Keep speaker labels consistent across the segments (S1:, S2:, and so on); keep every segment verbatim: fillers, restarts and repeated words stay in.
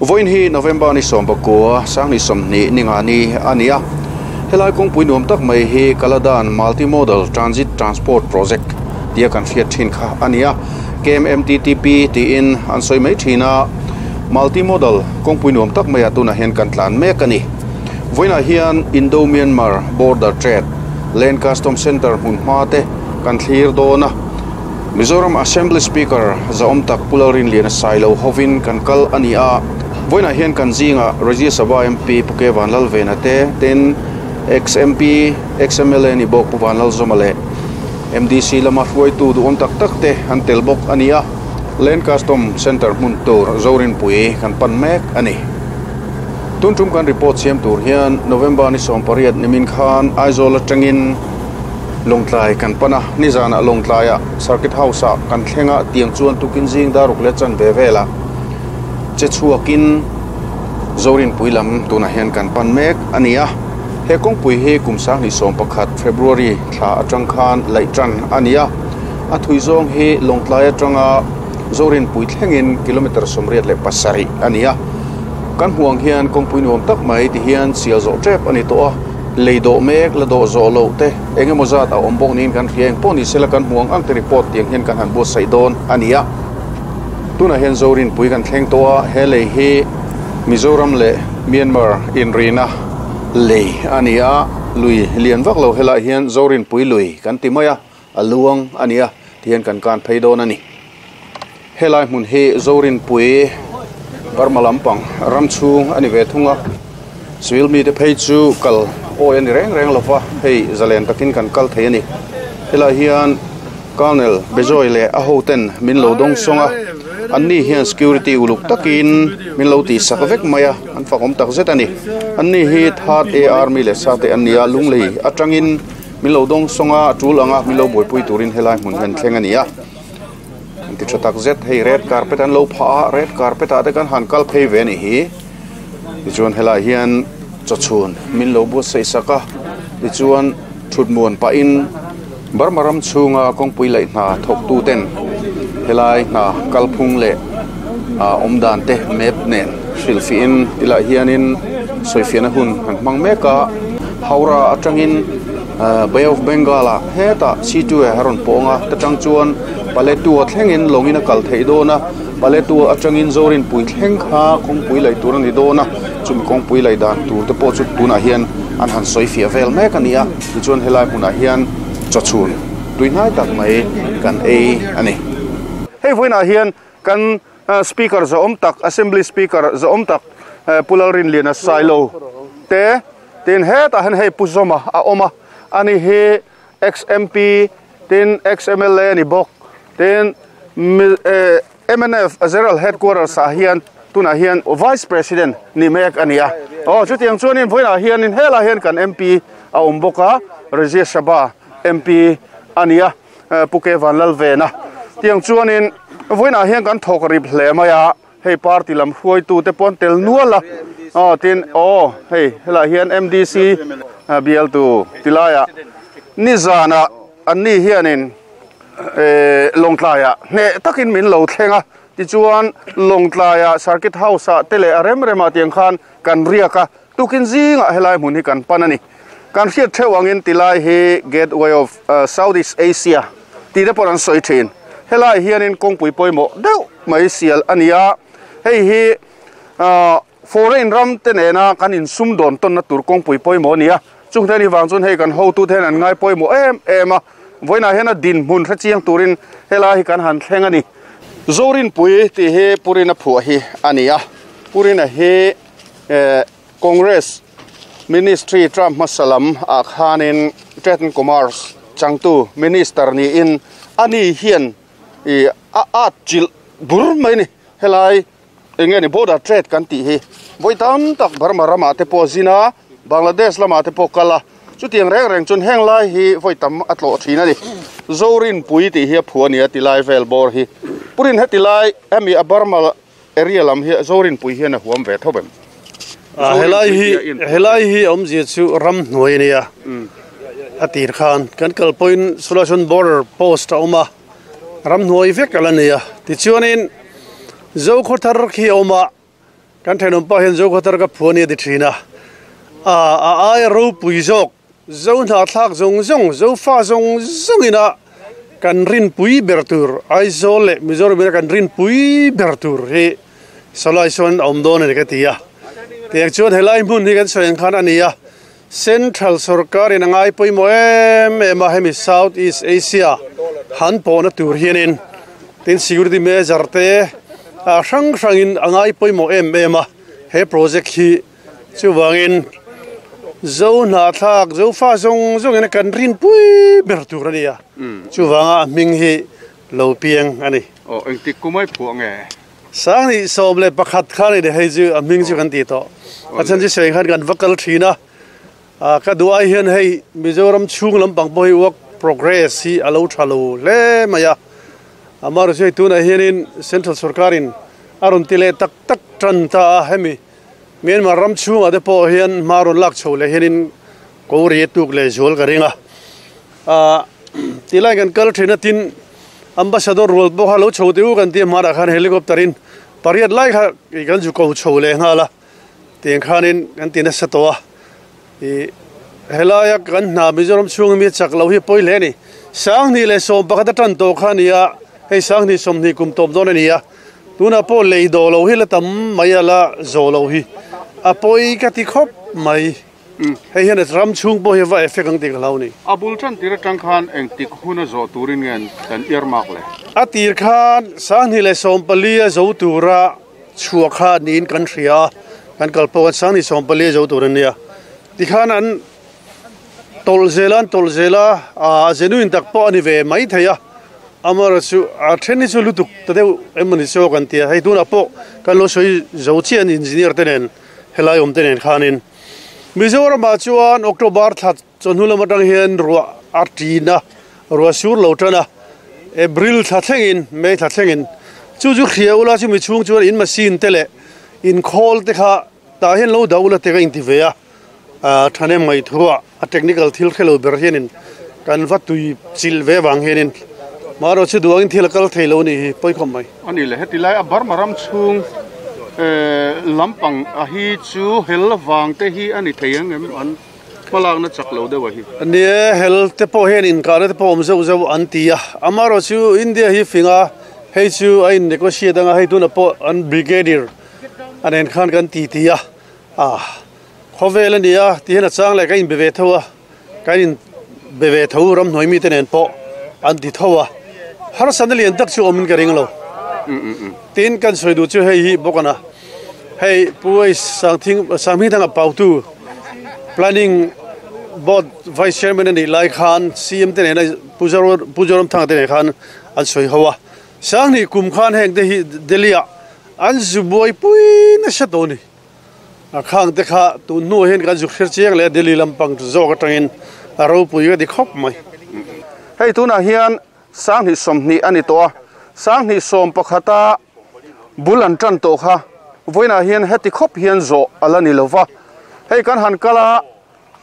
S1: Voin hi November ni som pakua sang ni som ni ninga ni ania helai kawngpui nuam tak mai hi Kaladan Multimodal Transit Transport Project tia kan hriat thin kha ania K M M T T P tiin an sawi mai thina multimodal kawngpui nuam tak mai a tunah hian kan tlan mek ani voinah hian Indo Myanmar Border Trade Land Custom Center hmun hma te kan thlir dawna Mizoram Assembly Speaker Zaom tak Pularin Lian Sailo hovin kan kal ania voinah hian kan zinga Rajya Sabha M P Puke Vanlal Vena te ten X M P X M L A ni bawk Pu Vanlal Zomale M D C lama hruai tu duhawm tak tak te an tel bawk ania Land Custom Center hmun tur Zorin Pui kan pan mek ani tun tum kan report siam tur hian November ni som pariat nimin khan Aizawl atangin Longtlai kan pana nizana Longtlaia Circuit House a kan thlenga tiang chuan tukin zing daruk le chan ve vela che chuakin Zorin Pui lam tunah hian kan pan mek ania he kawngpui hi kum sang ni som pakhat February thla atang khan laih tan ania a thui zawng hi Longtlai atanga Zorin Pui thlengin kilometer sawmriat leh pasarih ania kan hmuang hian kawngpui nuam tak mai ti hian sial zawh tep ani tawh a lei do mek la do zo lo te engemaw zat a awm bawk niin kan hria eng pawh ni sela kan hmuang ang te report tiang hian kan han buatsaih dawn ania tunah hian Zorin Pui kan thleng tawh a he lei hi Mizoram leh Myanmar inrina lei ania lui lian vak lo helai hian Zorin Pui lui kan ti mai a a luang ania tihian kan kan phei dawn ani helai hmun hi Zorin Pui Burma lampang ram chhung ani ve thunga civil mi te phei chu kal oi ani reng reng lova hei zalen takin kan kal thei ani helai hian Colonel Bejoy le a hoten min lo dong songa anni hian security uluk takin min lo ti sak vek maia an fakom tak zet ani anni hi third A army le sate ania lunglei atangin min lo dong songa tul anga min lo buaipui turin helai hmun hian thleng ania ti thatak zet hei red carpet an lo pha red carpet a te kan han kal phei ve ni hi tichuan helai hian chawchhun min lo buatsaih saka tichuan thutmuan pa in Burma ram chhunga kawngpui laih hna thawk tu ten helai hna kalphung leh a awmdan te map nen hrilhfiin tilai hianin sawifiahna hun an hmang mek a Howrah atangin Bay of Bengal a hetah C two a rawn pawnga ta tang chuan Paletua thlengin lawngin a kal theih dawn a Paletua atangin Zorin Pui thleng kha kawngpui laih tur ani dawn a chumi kawngpui laih dan tur te pawh chu tunah hian an han sawifiah vel mek ani a tichuan helai hmunah hian chawchhun tuihnai tak mai kan ei ani hei vawiinah hian kan speaker zawm tak assembly speaker zawm tak Pularin Lian Sailo te tin hetah hian hei Pu Zoma a awm a ani hi X M P tin X M L A ni bawk tin M N F General Headquarters ah hian tunah hian Vice President ni mek ania oh chutiang chuanin vawiinah hianin helai hian kan M P a awm bawk a Rajya Sabha M P ania Puke Vanlal Vena tiang chuanin vawiinah hian kan thawk rip hle mai a hei party lam hruai tu te pawn tel nual a oh tin oh hei helai hian M D C B L tu tilaia nizana anni hianin Longtlaia hne takin min lo thlenga tichuan Longtlaia Circuit House a tele a rem rema tiang khan kan riaka tukin zinga helai hmun hi kan pan ani kan hriat theuangin tilai hi Gateway of Southeast Asia ti te pawh an sawi thin helai hianin kawngpui pawimawh deuh mai sial ania hei hi foreign ram te nena kan insum dawn tawn na tur kawngpui pawimawh ania chung te ni wang chuan hei kan hotu ten an ngai pawimawh em em a voinah hian a din hmun hre chiang turin helai hi kan han thleng ani Zorin Pui ti hi Purina phuah hi ania Purina hi Congress Ministry Trump masalam a khanin Trade and Commerce changtu minister ni in ani hian i a a chil bur mai ni helai enge ni border trade kan ti hi voitam tak Burma rama te pawh zina Bangladesh lama te pawh kala chutiang reng reng chun heng lai hi voitam a tlawh thin ani Zorin Pui ti hi a phu ania ti lai vel bawr hi Purin heti lai hemi a Burma area lam hi Zorin Pui hian a huam ve thobem
S2: helai hi helai hi awmzia chu ram hnuai ania a tir khan kan kal point solution border post a awm a ram hnuai vek ala nia tichuanin Zo khaw thar khi awm a Kan thenom pa hian zo khatar ka phuani di thina a a ai ro pui jok zo na thlak zong zong zo fa zong zong ina kan rin pui bertur Aizawl le Mizoram kan rin pui bertur hi solai son om don ne ka tia tiang chuan helai mun hi kan soeng khan ania Central Sarkar in angai pui mo em em a hemi South East Asia han pona tur hianin tin security measure te a hrang hrangin angai pui mo em em a he project hi chuwangin zo na thak zo fa zong zong ina kan rin pui ber tur ania chuwanga ming hi lo piang ani
S1: o eng ti kumai phu nge
S2: sang ni som le pakhat khan ni hei chu a ming chu kan ti to a chan chi sei khan kan vakal thina a ka duai hian hei Mizoram chung lampang pawh hi work progress hi alo thalo le maya amar chu tuna hianin Central Sarkarin arun tile tak tak tran ta hemi Myanmar ram chung ate pawh hian marun lak chho le hianin ko ri tuk le zol ka ringa a tilai kan kal thina tin ambassador rol bo halo chho tiu kan ti mara khan helicopterin pariat lai kha kan ju ko chho le nga la tiang khanin kan tina satoa i helaya kan na Mizoram chung mi chak lo hi poi le ni sang ni le som pakhat tan to khania hei sang ni som ni kum top don ania tuna po lei do lo hi la tam mai ala zo lo hi a poi ka ti khop mai hei hian ram chung po hi va effect ang ti lo ni
S1: abul chan tira tang khan eng tik huna zo turin ngen kan earmark le
S2: a tir khan sang ni le som pali a zo tura chua kha nin kan hria kan kalpo kan sang ni som pali zo turin nia ti khan an tol zelan tol zela a genuine tak po ani ve mai theia amar chu a theni chu lutuk ta deuh emani so kan tia hei tuna po kan lo soi zo chian engineer tenen helai om tenen khanin Mizoram a chuan October thla chonhu lam atang hian ruwa a tina ruwa sur lo tana April thla thlengin May thla thlengin chu chu khia ula chu mi chung chuan in machine te le in khol te kha ta hian lo daula te ka in ti ve a a thane mai thua a technical thil khelo ber hianin kan va tui chil ve wang hianin maro chu duang thil kal theilo ni hi poi khom mai
S1: ani le heti lai a bar maram chung eh lampang a hi chu hel wang te hi ani theiang em an palak na chak lo dewa hi
S2: ne hel te po hen in kar te pom zo zo an tia amaro chu India hi finga hei chu ai negotiate anga hei tuna po an brigadier anen khan kan ti tia a khovel ania ti hen chang le ka in beve thowa ka in beve tho ram noi mi te nen po an ti thowa har san lian tak chu omin ka ring lo tin kan soi du chu hei hi bokana hei puai sang thing sami thanga pautu planning board vice chairman ani lai khan C M te ne pujaro pujaram thang te ne khan an soi hawa sang ni kum khan heng te hi delia an zu boi pui na sha to ni a khang te kha tu nu hen kan zu khir chiang le Delhi lampang zo ka tangin a ro pui ga di khop mai
S1: hei tuna hian sang ni som ni ani to sang ni som pakhata bulan tan to kha voina hian heti khop hian zo ala ni lova hei kan han kala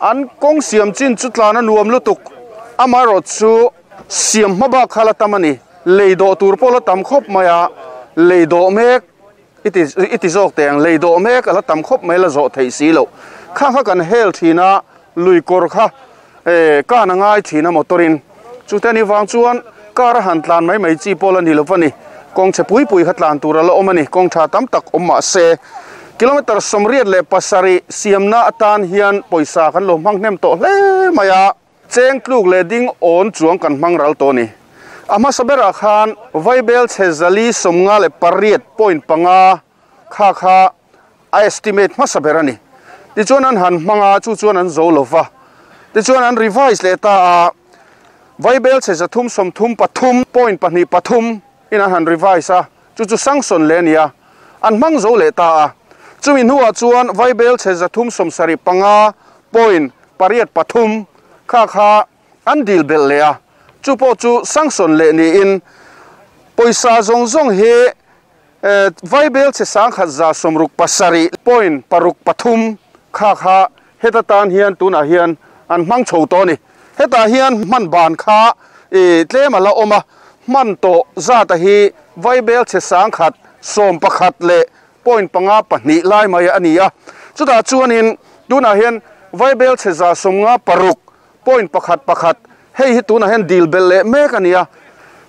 S1: an kong siam chin chutlana nuam lutuk amaro chu siam hmaba khala tamani leido tur pola tam khop maya leido mek iti iti zok teng leido mek ala tam khop mai la zo thei si lo kha kha kan hel thina lui kor kha e kana ngai thina motorin chutani wang chuan kar han tlan mai mai chi pola ni lovani kong che pui pui khatlan tur ala omani kong tha tam tak omma se kilometer somriat le pasari siamna atan hian poisa kan lo mang hnem to hle maya cheng tluk le ding on chuang kan mang ral to ni ama sabera khan vaibel chezali somnga le pariat point panga kha kha a estimate ma sabera ni ti chuan an han manga chu chuan an zo lova ti chuan an revise le ta vaibel che zathum som thum pathum point pahni pathum in an han revise a chu chu sanction le nia an mang zo le ta a chumi nuwa chuan vaibel che zathum som sari panga point pariat pathum kha kha an dil bel le a chu po chu sanction le ni in poisa zong zong he vaibel che sang khat za somruk pasari point paruk pathum kha kha heta tan hian tuna hian an mang chho to ni heta hian man ban kha e tlem ala oma man to za ta hi vaibel che sang khat som pakhat le point panga pahnih lai mai ani a chutah chuanin tunah hian vaibel chhe za sawmnga paruk point pakhat pakhat hei hi tunah hian dil bel leh mek ani a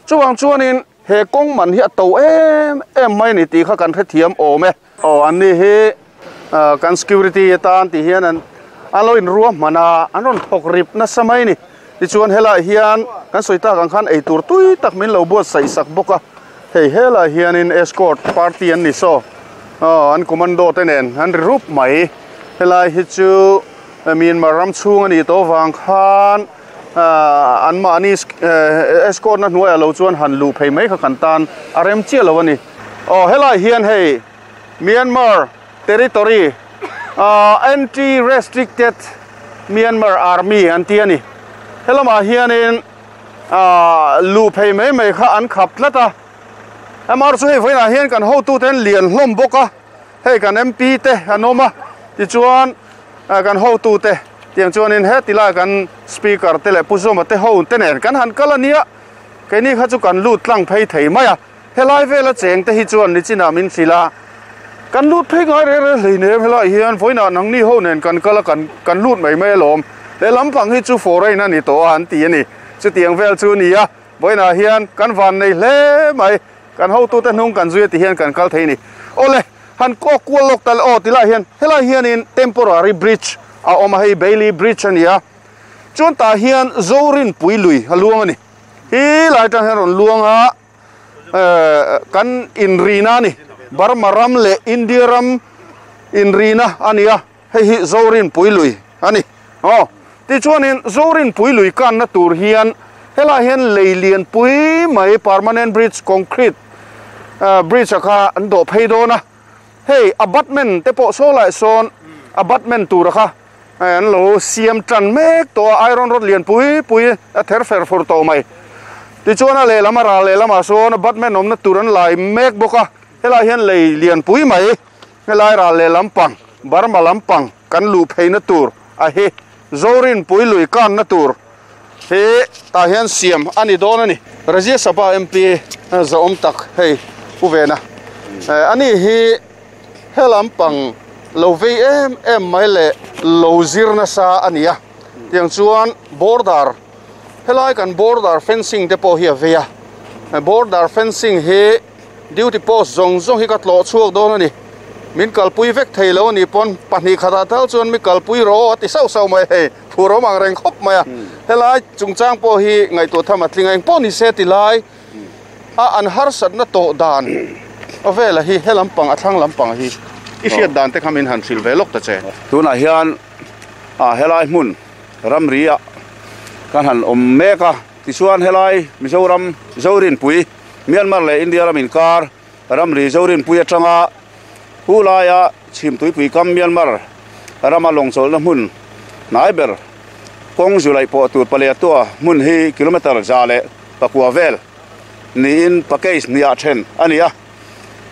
S1: chuwang chuanin he kawng man hi a to em em mai ni tih kha kan hrethiam awm e aw an ni hi kan security atan ti hian an an lo in ruah hmana an rawn thawk rip nasa mai ni tichuan helai hian kan sawi tak ang khan eitur tui tak min lo buat saih sak bawk a hei helai hianin escort party an ni saw aw an commando te nen an ri rup mai helai hi chu Myanmar ram chhung ani to wang khan an mahni escort na hnuai alo chuan han lu phei mai kha kan tan a rem chiah lo ani aw helai hian hei Myanmar territory anti restricted Myanmar army an ti ani helama hianin lu phei mai mai kha an khap tlat a amar chu hei voina hian kan hotu ten lian hlawm bawk a hei kan M P te an awm a tichuan kan hotu te tiang chuanin he tilai kan speaker te leh pu zawma te ho te nen kan han kal ania keini kha chu kan lut tlang phei thei mai a helai vela cheng te hi chuan ni chinah min hrila kan lut phei ngai re re hleinem helai hian voina nangni ho nen kan kala kan kan lut mai mai alawm le lampang hi chu foreign ani to an ti ani chu tiang vel chu ni a voina hian kan van nei hle mai kan hotu te hnung kan zui ti hian kan kal thei ni ole han ko kual lok tal aw tilai hian helai hianin temporary bridge a awm a hei Bailey bridge ania chuan tah hian Zorin Puilui a luang ani hi lai tang hian rawn luang a kan inrina ani Burma ram leh India ram inrina ania hei hi Zorin Puilui ani aw tichuanin Zorin Puilui kanna tur hian helai hian lei lian pui mai permanent bridge concrete bridge a kha an dawh phei dawn a hei abutment te pawh saw lai sawn abutment tur kha an lo siam tan mek to iron rod lian pui pui a ther fer fur to mai tichuan a lehlam a ral lehlamah sawn abutment awmna tur an lai mek bawk a helai hian lei lian pui mai helai ral lehlam pang Burma lampang kan lu pheina tur a hi Zorin Puilui kanna tur he tah hian siam ani dawn ani Rajya Sabha M P zawm tak hei pu vena ani hi helampang lo vei em em mai le lo zir nasa ania tiang chuan border helai kan border fencing te pawh hi a vei a border fencing hi duty post zawng zawng hi ka tlawh chhuak dawn ani min kalpui vek thei lo ani pawn pahnih khatah tal chuan mi kalpui ro a ti sauh sauh mai hei phur awm ang reng khawp mai a helai chungchang pawh hi ngaihtuah tham a tling a engpawh ni se ti lai a an harsatna tawh dan a vela hi helampang a thlang lampang hi i hriat dan te kha min han hril ve lawk ta che
S3: tunah hian a helai hmun ramri a kan han awm mek a tichuan helai Mizoram Zorin Pui Myanmar leh India ram inkar ramri Zorin Pui atanga hulaia chhimtuipui kam Myanmar rama lawngchawlhna hmun hnai ber kawng zulai pawh tur palian tua hmun hi kilometer za leh pakua vel niin package hniah then ani a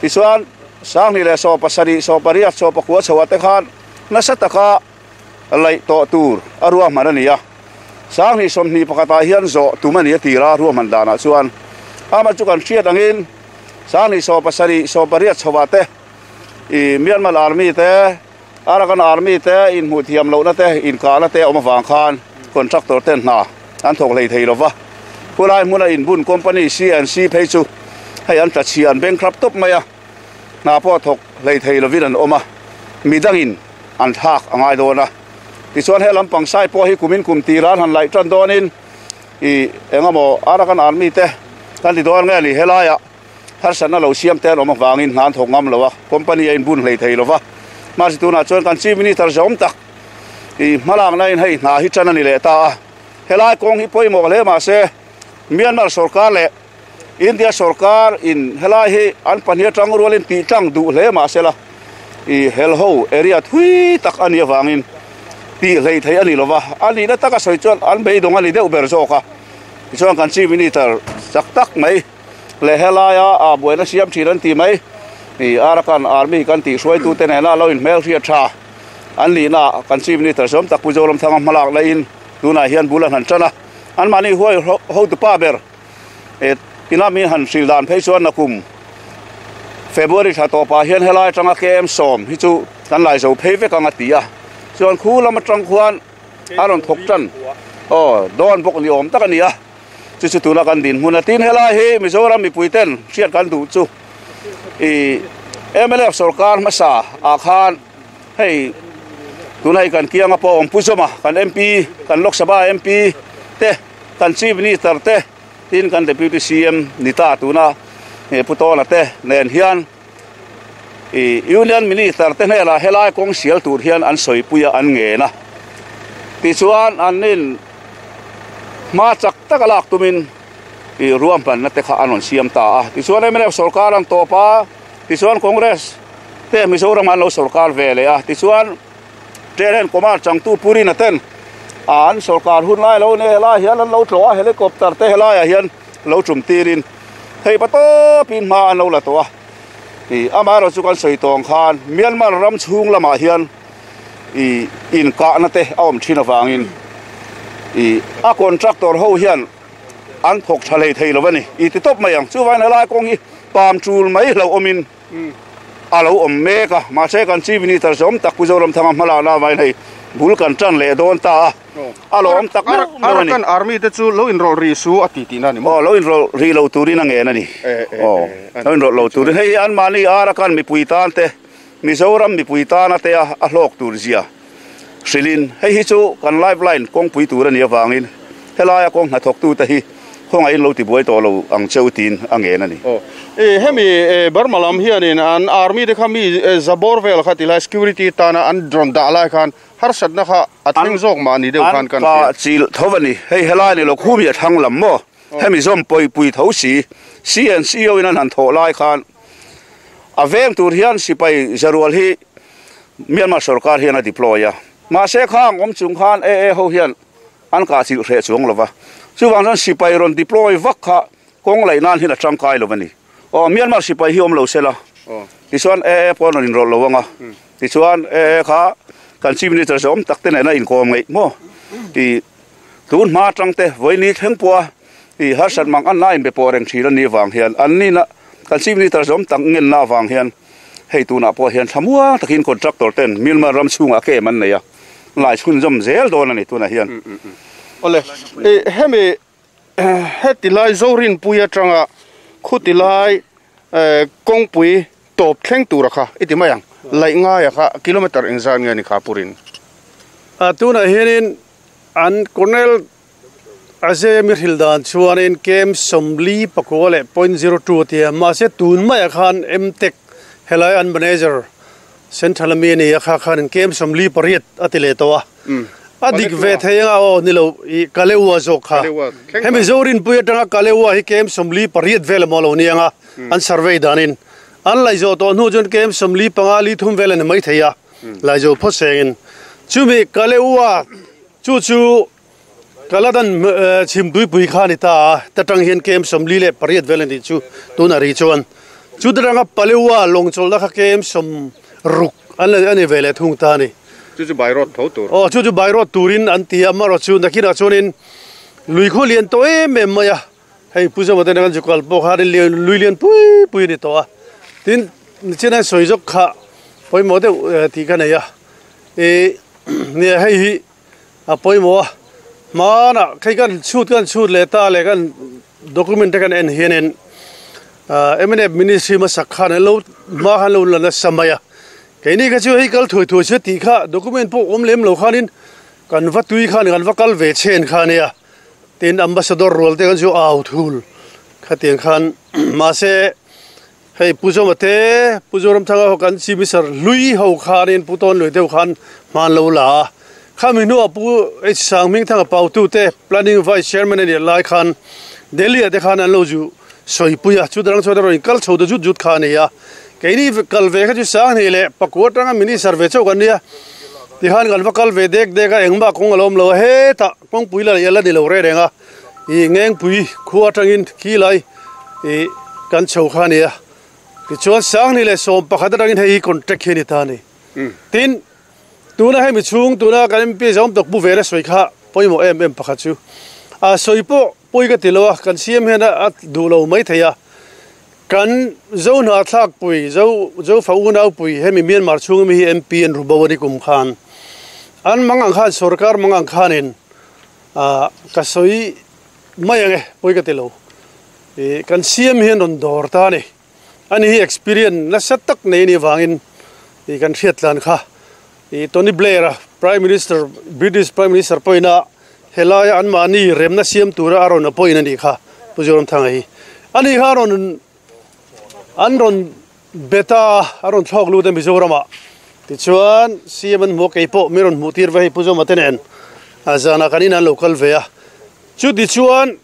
S3: tichuan sanghnih leh saw pasarih saw pariat saw pakua chhoah te khan nasa taka laih tawh tur a ruah hman ani a sanghnih sawmhnih pakhatah hian zawh tum ani a tira ruah hman danah chuan ama chu kan hriat angin sanghnih saw pasarih saw pariat chhoah te i Myanmar army te Arakan army te in hmuh thiam lohna te inkahna te awm avang khan contractor ten hna an thawk hlei thei lova khulai hmuna inbun company C and C phei chu hei an tla chhia an bankrupt tawp mai a hna pawh thawk hlei thei lovin an awm a midangin an thlak a ngai dawn a tichuan he lampang sai pawh hi kumin kum tiran han laih tan dawnin i engemaw Arakan army te kan ti dawn nge ni helaia harsatna lo siam te an awm avangin hna an thawk ngam lo a company a inbun hlei thei lova mahse tunah chuan kan chief minister zawm tak i hmalakna in hei hna hi tan ani leh ta a helai kawng hi pawimawh hle mahse Myanmar sarkar leh India sarkar in helai hi an pahnih atang rualin tih tlang duh hle mahse la i helho area thui tak ani awangin tih hlei thei ani lova ani na taka sawi chuan an beidawng ani deuh ber zawk a tichuan kan chief minister chak tak mai le helaia a buaina siam thin an ti mai i Arakan army kan tih hruaitu te nena lo in hmel hriat tha an lihna kan chief minister sawm tak pu Zoram Thanga hmalak la in tunah hian bul an han tan a an mahni huai hotu pa ber e tina mi han hril dan phei chuan nakum February tha to pa hian helai tanga K M som hi chu kan lai zo phei vek anga tia chuan khu lama tang khuan aron thok tan o don bok ni om tak ania chu chu tuna kan din hmun tin helai hi Mizoram mi puiten hriat kan du chu i M L F sarkar masa a khan hei tunai kan kianga po om puzoma kan M P kan Lok Sabha M P te kan Chief Minister te tin kan Deputy C M nita tuna e putona te nen hian i Union Minister te hela helai kong sial tur hian an soipuia an nge na ti chuan an nin ma chak takalak tumin i ruam pan na te kha anon siam ta a ti chuan M L F sarkar an topa ti chuan Congress te Mizoram an lo sarkar ve le a ti chuan Teren Kumar Changtu Puri na ten an sarkar hun lai lo ne la hian an lo tlo a helicopter te helai hian lo chum tirin thei pa to pin ma an lo la to a i amaro chu kan soi tong khan Myanmar ram chung lama hian i in ka na te awm thin awangin i a contractor ho hian an thok thalei thei lo ani i ti top mai ang chu vai na lai kong hi pam chul mai lo omin a lo om me ka ma se kan Chief Minister som tak Mizoram thanga hmala na vai nei bul kan tran le don ta a lo om tak
S1: Arakan army te chu lo enroll ri su ati ti na ni
S3: mo lo enroll ri lo turin ange na ni o lo enroll lo turin hei an mani Arakan mi puitan te Mizoram mi puitan ate a hlok tur zia Shilin hei hi chu kan lifeline kong pui tur ani awangin helai a kong hna thok tu te hi khonga in lo ti buai to lo ang cheu tin ange na ni
S1: o e hemi Burma hianin an army te khami zabor vel khatila security tana an drone da lai khan har sat na kha athing jok ma ni deuh khan kan
S3: ka chil thovani hei helai ni lo khumi a thang lam mo hemi zom poi pui tho si C N C O in an han tho lai khan a veng tur hian sipai zarual hi Myanmar sarkar hian a deploy a ma se khang om chung khan e e ho hian an ka chil hre chuang lova chuwang ran sipai ron deploy vak kha kong lai nan hin a tangkai lovani o Myanmar sipai hi om lo sela ti chuan e e pon in rol lowanga ti chuan e e kha kan Chief Minister som takte na in kom ngai mo ti tun ma tangte voini thlengpua i har sat mang an line be poreng thira ni wang hian an ni na kan Chief Minister som tak ngen na wang hian hei tuna po hian thamua takin contractor ten Myanmar ram chunga ke man nei a lai chhun jom zel don ani tuna hian
S1: ole e hemi hetilai Zorin puia tanga khutilai kongpui top thleng tura kha iti mayang lai nga ya kha kilometer engzan nge ni kha purin
S2: a tuna hianin an Colonel Ajay Mir Hildan chuanin kem somli pakole point zero two tia ma se tun mai khan M-Tech helai an manager central mi ni kha khan kem somli pariat atile to a adik ve theinga o nilo i kalewa zo kha hemi Zorin puia tanga kalewa hi kem somli pariat vel mo lo nianga an survey danin an lai zo to nu chun kem somli panga li thum vel ne mai theia lai zo pho sengin chumi kalewa chu chu kaladan chim dui pui kha ni ta tatang hian kem somli le pariat vel ni chu tuna ri chuan chu dranga palewa longchol da kha kem som ruk an le ani vele thung ta ni
S1: chu chu by road tho tur
S2: o chu chu by road turin an tia maro chu nakina chuanin lui kho lian to em em maya hei puja mate kan jukal po kha ri lui lian pui pui ni to a tin chena soijok kha poi mo de ti ka nei a e ne hei hi a poi mo ma na khai kan chut kan chut le ta le kan document kan en hianen M N F ministry ma sakha ne lo ma han lo la na samaya keini ka chu hei kal thui thui che ti kha document po om lem lo khanin kan va tui khan kan va kal ve chen kha nia tin ambassador rol te kan chu au thul kha tiang khan ma se hei puzo mate puzoram thanga ho kan chi misar lui ho khanin puton lui deuh khan man lo la khami nu apu h sang ming thanga pau tu te planning vice chairman ani lai khan Delhi ate khan an lo ju soi puya chu drang chu drang kal chho de jut jut kha nia keini kal ve kha chu sang ni le pakwa tanga mini survey chau kan nia ti han kan va kal ve dek dek a engma kong alom lo he ta kong pui la yala ni lo re renga i ngeng pui khuwa tangin khi lai i kan chho kha nia ti chuan sang ni le som pakhat tangin hei contract hi ni ta ni tin tuna hei mi chung tuna kan M P zom tok bu ve re soi kha poimo em em pakhat chu a soi po poi ka tilowa kan C M hian a du lo mai theia Kan zo na thlak pui zo zo fa u nau pui hemi Myanmar chung mi hi M P an rubawani kum khan an mangang khan sarkar mangang khanin a ka soi mai ange pui ka tilo e kan C M hian ron dor ta ni ani hi experience na sat tak nei ni wangin e kan hriatlan kha e Tony Blair Prime Minister British Prime Minister poina helai an mani remna siam tura aron apoina ni kha pujoram thanga hi ani kha ron an ron beta aron thok lu te Mizorama ti chuan C M an mo keipo miron mutir ve pujoma tenen azana kanina local ve a chu ti chuan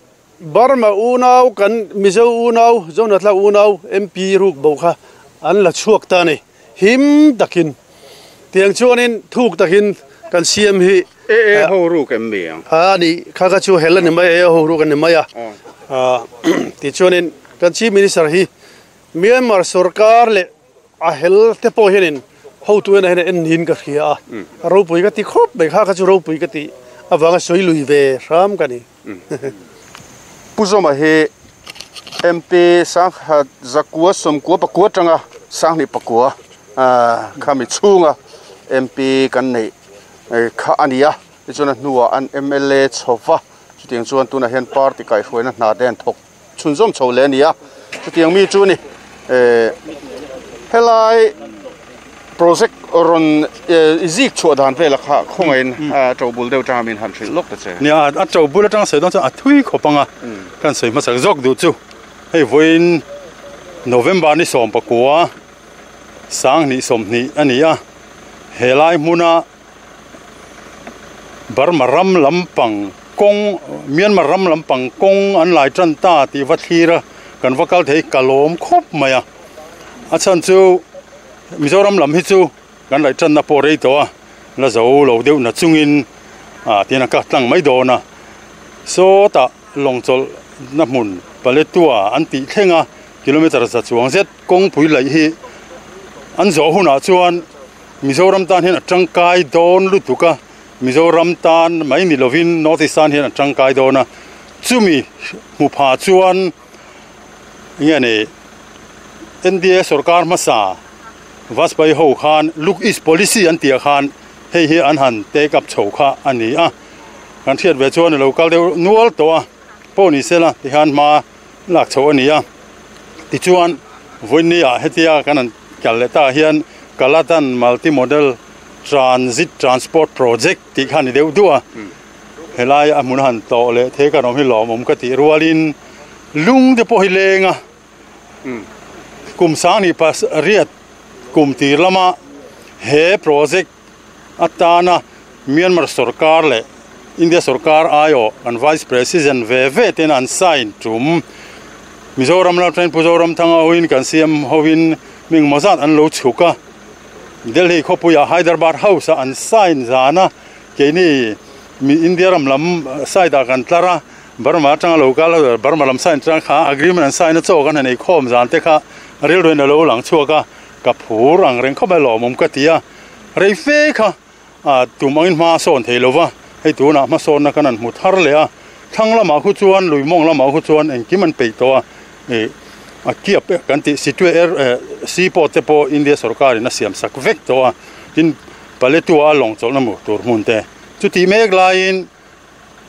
S2: Burma unau kan Mizo unau Zonatla unau M P ruk bo kha an la chuak ta ni him takin tiang chuanin thuk takin kan C M hi
S1: e e ho ru kem mi ang
S2: a ni kha ka chu hel ni mai e ho ru kan ni mai a a ti chuanin kan Chief Minister hi Myanmar sarkar le a hel te po hianin ho tu na hen en hin ka khia a ro pui ka ti khop mai kha ka chu ro pui ka ti awanga soi lui ve ram ka ni
S1: Puzoma he M P sang ha zakua somkua pakua tanga sang ni pakua a khami chunga M P kan nei kha ania chuna nuwa an M L A chowa chutiang chuan tuna hen party kai hruaina hna den thok chunzom chho le ania chutiang mi chu ni e helai project ron zik chu dan vela kha khongain chobul deuh chamin han thil lok ta che
S4: nia a chobul atang sei don chu a thui khopanga kan sei masak jok du chu hei voin November ni som pakua sang ni som ni ania helai hmuna Burma ram lampang kong Myanmar ram lampang kong an lai tran ta ti va thlira kan vakal thei kalom khop maya a chan chu Mizoram lam hi chu kan lai tran na po rei to a la zo lo deuh na chungin a tina ka tlang mai do na so ta longchol na hmun paletua an ti thlenga kilometer za chuang zet kong pui lai hi an zo huna chuan Mizoram tan hian a tangkai dawn lutuka Mizoram tan mai ni lovin North East tan hian a tangkai dawn a chumi mu pha chuan nge ni N D A sarkar masa Vajpayee ho khan look east policy an tia khan hei hi an han take up chho kha ani a kan thiat ve chuan local deuh nual to a pawh ni sela ti khan ma lak chho ani a ti chuan voini a hetia kan an kal le ta hian Kaladan multi-modal transit transport project ti khan ni deuh dua helai a hmun han to le the kan awm hi lawm awm ka ti rualin lung te pawh hi lenga kum sang ni pas riat kum tir lama he project atana Myanmar sarkar le India sarkar ayo an vice president ve ve ten an sign tum Mizoram la train Puzoram thanga hoin kan C M hoin ming mazat an lo chuka Delhi khopuya Hyderabad House an sign zana keni mi India ram lam side kan tlara Burma tanga local Burma lam sign tang kha agreement an sign cho kan nei khom zan te kha ril roin lo lang chuaka ka phur ang reng khomai lomom ka tia rei fe kha a tumangin ma son theilova hei tu na ma son na kanan mu thar le a thang lama khu chuan luimong lama khu chuan engkim an pei to a e a kiap kan ti situ er seaport te po India sarkar in a siam sak vek to a tin paletua long chol na mu tur mun te chu ti mek lain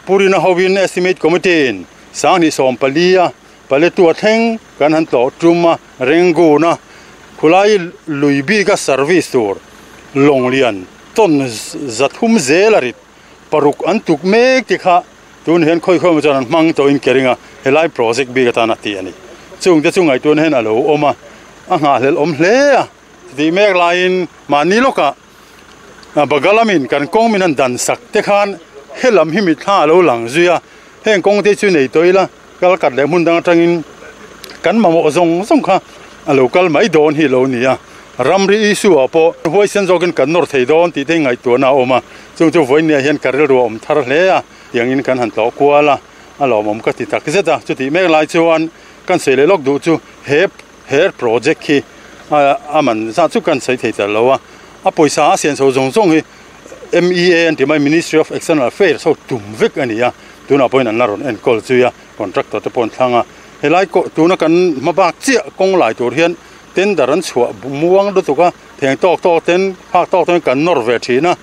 S4: purina hovin estimate committee in sang ni som palia paletua thleng kan han to tuma rengu na khulai luibi ka service tur longlian ton zathum zelarit paruk an tuk mek ti kha tun hian khoi khoi chan mang to in keringa helai project bi ka ta na ti ani chung te chungai tun hen alo oma a nga hlel om hle a ti mek lain mani loka bagalamin kan kong min an dan sak te khan helam hi mi tha lo lang zuya heng kong te chu nei toila kal kat le mun dang atangin kan mamo zong zong kha a local mai don hi lo nia ramri issue apo hoi sen jokin kan nor thei don ti te ngai tu na oma chung chu voin nia hian karel ro om thar hle a yangin kan han to kwala a lomom ka ti tak zeta chu ti mek lai chuan kan sei le lok du chu he her project khi aman za chu kan sei thei ta lowa a poisa a sian so zong zong hi M E A an ti mai Ministry of External Affairs so tum vek ania tuna point an laron en kol chuya contractor te pon thlanga Helai ko tuna kan mabak chia kong lai tur hian tender an chua muang lu tuka theng tok tok ten phak tok ten kan nor ve thina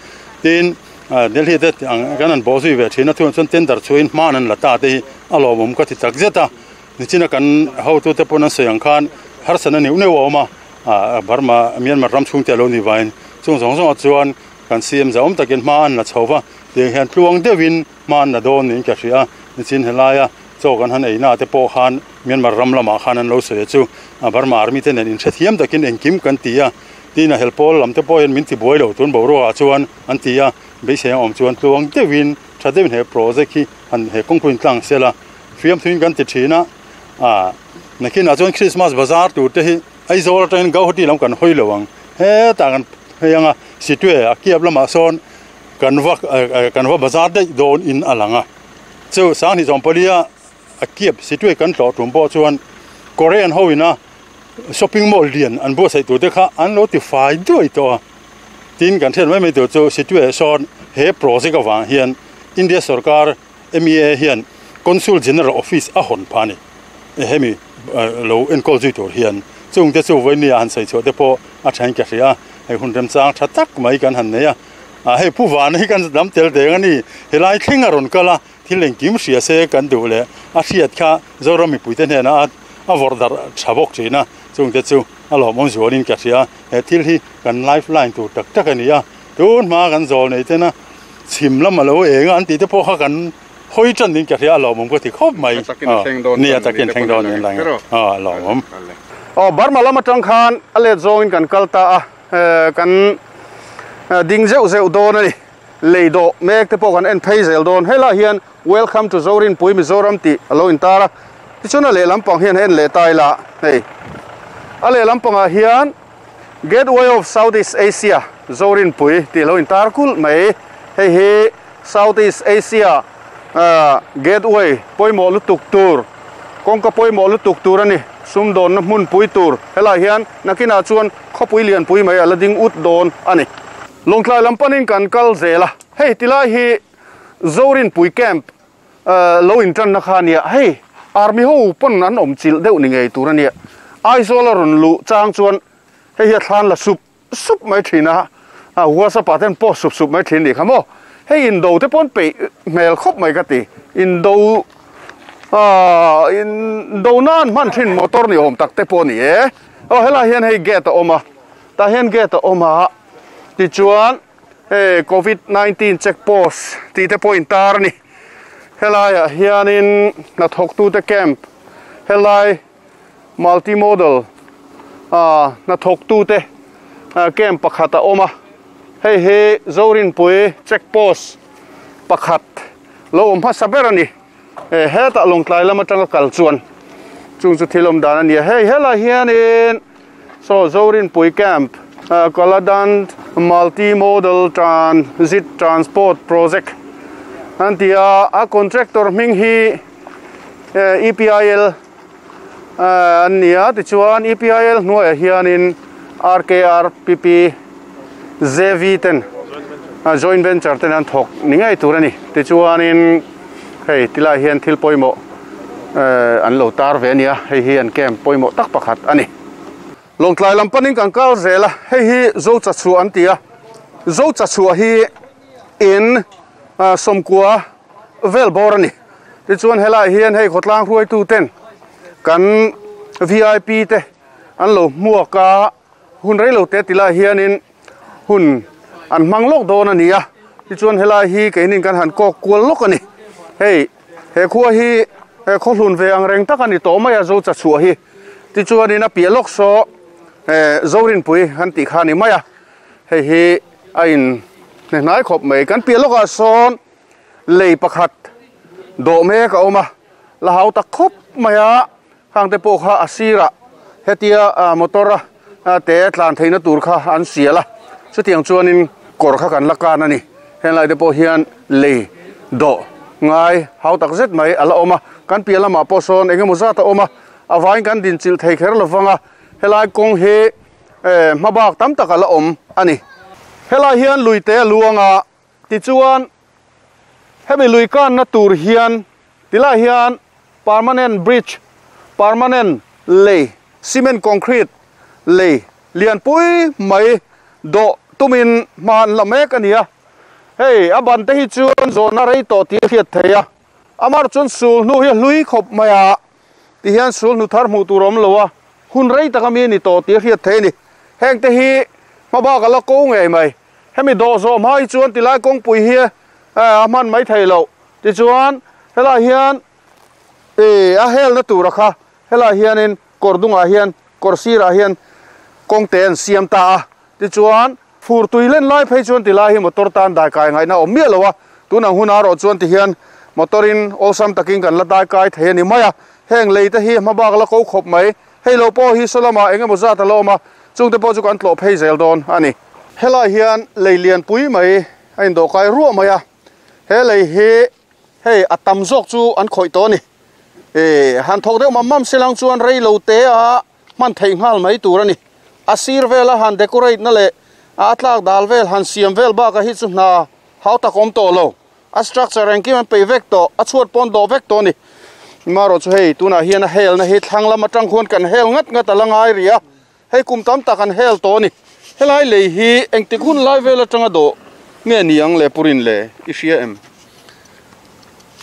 S4: tin Delhi te ang kan an bo zui ve thina thun chon tender chuin man an lata te alomum ka ti tak zeta nichina kan how to te pon an soyang khan har sana neu neu oma a Burma Myanmar ram chung te lo ni wain chung zong zong chuan kan C M zaum takin man la chowa te hian tluang deuhin man na don nin ka hria nichin helaya chokan han eina te po khan Myanmar ram lama khan an lo soi chu a Burma army te nen in thethiam takin engkim kan tia tina helpol lam te po hian min ti buai lo tun bo ro a chuan an tia be se om chuan tluang deuhin thadem he project hi han he kongpuin tlang sela fiam thuin kan ti thina a nakin a chuan Christmas bazaar tur te hi Aizawl atangin Guwahati lam kan hoi lowang he ta kan heyanga situe a kiap lama sawn kan va kan va bazaar dei dawn in alanga chu sang ni chawmpalia a kiap situe kan tlo tum pawh chuan Korean hoina shopping mall lian an bo sai tur te kha an lo ti fai duai to a tin kan then mai mai tur chu situe sawn he project awang hian India sarkar M E A hian Consul General Office a hon phani hemi lo enkol zui tur hian chung te chu voinia han sei chu te pawh a then ka hria hei hun rem chang tha tak mai kan han nei a a hei pu van hi kan dam tel deng ani helai thlenga ron kala thil engkim hria se kan du le a hriat kha Zoram mipui te hnena a vawrdar thabawk thina chung te chu a lawmawm zualin ka hria he thil hi kan lifeline tur tak tak ani a tun hma kan zawl nei tena chim lama lo enga an ti te pawh kha kan hoi chan din ka hria a lawmawm ka ti khawp mai ni a takin thleng dawn in lang a lawmawm
S1: o Burma lama tang khan a let zawngin kan kal ta a kan ding zeuh zeuh dawn ani leido mek te pawh kan en phei zel dawn helai hian welcome to Zorinpui Mizoram tih alo in tar a tichuan a lehlam pang hian en leh tai la hei a lehlam pangah hian Gateway of Southeast Asia Zorinpui tih alo in tar kul mai hei hi Southeast Asia gateway pawimawh lutuk tur kawngka pawimawh lutuk tur ani sumdawn na hmun pui tur helai hian nakinah chuan khawpui lian pui mai ala ding ut dawn ani lawngtlai lam panin kan kal zel a hei tilai hi Zorinpui camp lo in tan na kha ania hei army ho pawn an awm chilh deuh ni ngei tur ania Aizawl a rawn luh chang chuan hei hi a thlan la sup sup mai thin a a WhatsApp ah ten post sup sup mai thin ni kha maw hei indo te pawn peih hmel khawp mai ka ti indo a indo nan hman thin motor ni awm tak te pawh ni e aw helai hian hei gate a awm a tah hian gate a awm a tichuan hei covid nineteen check post tih te pawh in tar ani helaiah hianin hnathawktu te camp helai multimodal a hnathawktu te camp pakhat a awm a hei hi Zorinpui check post pakhat lo awm hmasa ber ani hetah lawngtlai lam atanga kal chuan chung chu thil awm dan ani a hei helai hianin saw Zorinpui camp Kaladan multimodal transit transport project an tia a contractor hming hi E P I L an nia tichuan E P I L hnuaiah hianin R K R P P J V ten joint venture ten an thawk ni ngei tur ani tichuanin hei tilai hian thil pawimawh an lo tar ve ania hei hi an camp pawimawh tak pakhat ani lawngtlai lam panin kan kal zel a hei hi zo chachhuah an ti a zo chachhuah hi in sawmkua vel bawr ani tichuan helai hian hei khawtlang hruaitu ten kan V I P te an lo hmuak a hun reilo te tilai hianin hun an hmang lawk dawn ani a tichuan helai hi keinin kan han kawk kual lawk ani hei he khua hi khaw hlun ve ang reng tak ani tawh mai a zo chachhuah hi tichuanin a piah lawk saw Zorinpui han tih kha ni mai a hei hi a in hnehnai khawp mai kan piah lawkah sawn lei pakhat dawh mek a awm a la hau tak khawp mai a hang te pawh kha a sirah hetia motor a te tlan theihna tur kha an sial a chutiang chuanin kawr kha kan la kan ani henglai te pawh hian lei dawh ngai hau tak zet mai ala awm a kan piah lamah pawh sawn engemaw zat a awm a a vain kan din chilh thei kher lovanga helai kawng hi hmabak tam tak ala awm ani helai hian lui te a luanga tichuan hemi lui kan na tur hian tilai hian permanent bridge Permanent lei cement concrete lei lianpui mai do tumin man la mek ania hei aban te hi chuan zawna rei tawh tih a hriat thei a amar chuan sul hnu hi hlui khawp mai a ti hian sul hnu thar hmuh tur awm lo a hun rei taka mi ni tawh tih a hriat thei ani heng te hi hmabak ala ko ngei mai hemi dawh zawh hma hi chuan tilai kawngpui hi a hman mai thei lo tichuan helai hian e a hel na tur a kha helai hianin kawr dungah hian kawr sirah hian kawngte an siam ta a tichuan fur tui len lai phei chuan tilai hi motor tan dai kai ngaihna awm miah lo a tunang hun a rawh chuan ti hian motorin awlsam takin kan la dai kai thei ani mai a heng lei te hi hmabak la ko khawp mai hei lo pawh hi sawlama eng emaw zat a la awm a chungte pawh chu kan tlawh phei zel dawn ani helai hian lei lianpui mai a indawh kai ruah mai a he lei hi hei a tam zawk chu an khawih tawh ani e han thawk deuh mam mam silang chuan rei lo te a hman thei nghal mai tur ani a sir vela han decorate na leh a tlak dal vel han siam vel baka hi chu hna hau tak awm tawh lo a structure engkim an pei vek tawh a chhuat pawn dawh vek tawh ani maro chu hei tunah hian a hel na hi thlang lam atang khuan kan hel ngat ngat a la ngai ri a hei kum tam tak an hel tawh ani helai lei hi engtik hun lai vel atanga dawh nge niang le purin le i hria em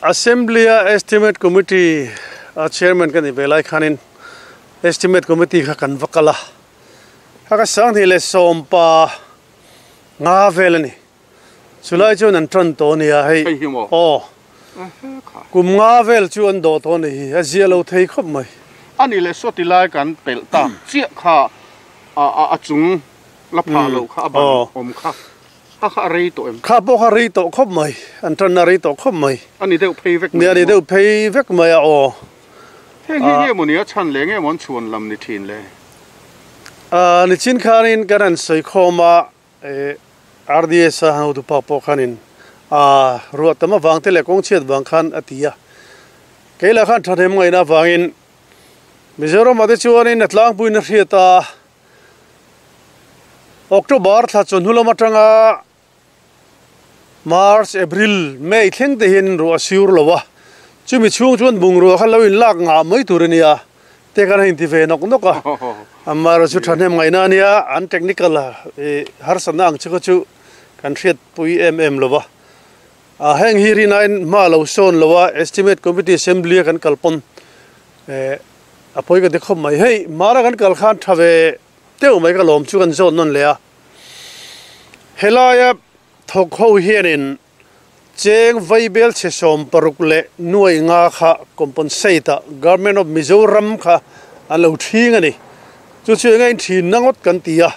S2: Assembly Estimate Committee a chairman kan ni velai khanin Estimate Committee kha kan vakala haka sang hi le sompa nga vel ani chulai chu an tran to nia hei
S1: hei hi maw
S2: o kum nga vel chu an do to ni hi a zia lo thei khawp mai
S1: ani le sawti lai kan pel ta chiah kha a a a chung la pha lo kha a ban awm kha a kha a rei tawh em
S2: kha pawh kha rei tawh khawp mai an tan na rei tawh khawp mai
S1: ani deuh phei vek
S2: ni ani deuh phei vek mai a aw
S1: heng hi nge maw ni a chhan le nge maw an chhuan lam ni thin le
S2: a ni chin khanin kan an sawi khawma e R D S a hau du pa pawh khanin a ruah tam awang te leh kawng chhiat vang khan a ti a keila khan thathem ngaihna wangin Mizoram ate chuanin a tlangpuiin a hriat a October thla chuan hnulam atanga March April May thleng te hian ruah a siur lo a chumi chhung chuan bungrua kha lo in lak ngah mai tur ania te kan a inti ve nawk nawk a amah erawh chu thahnem ngaihna ania an technical a harsatna ang chu kha chu kan hriat pui em em lo a a heng hi rinain hma lo sawn lo a estimate committee assembly a kan kalpawn e a pawi ka ti khawp mai hei mara kan kal khan tha ve teuh mai ka lawm chu kan zawn nawn le a helaia thawk ho hianin cheng vaibel che sawm paruk leh nuai nga kha compensate a government of Mizoram kha an lo thing ani chu chu enga in thin na ngawt kan ti a